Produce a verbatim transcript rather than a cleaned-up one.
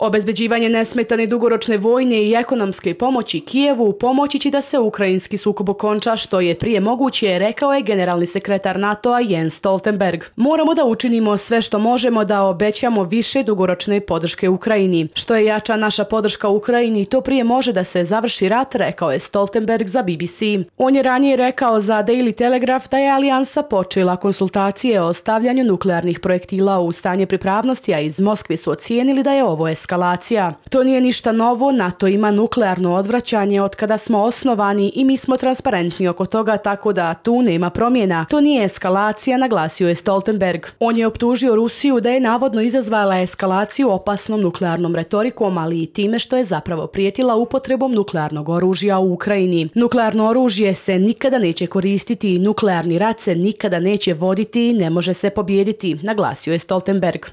Obezbeđivanje nesmetane dugoročne vojne i ekonomske pomoći Kijevu pomoći će da se ukrajinski sukob okonča što je prije moguće, rekao je generalni sekretar NATO-a Jens Stoltenberg. Moramo da učinimo sve što možemo da obećamo više dugoročne podrške Ukrajini. Što je jača naša podrška Ukrajini, to prije može da se završi rat, rekao je Stoltenberg za B B C. On je ranije rekao za Daily Telegraph da je alijansa počela konsultacije o stavljanju nuklearnih projektila u stanje pripravnosti, a iz Moskve su ocijenili da je ovo eskalacija. To nije ništa novo, NATO ima nuklearno odvraćanje od kada smo osnovani i mi smo transparentni oko toga, tako da tu nema promjena. To nije eskalacija, naglasio je Stoltenberg. On je optužio Rusiju da je navodno izazvala eskalaciju opasnom nuklearnom retorikom, ali i time što je zapravo prijetila upotrebom nuklearnog oružja u Ukrajini. Nuklearno oružje se nikada neće koristiti i nuklearni rat se nikada neće voditi i ne može se pobijediti, naglasio je Stoltenberg.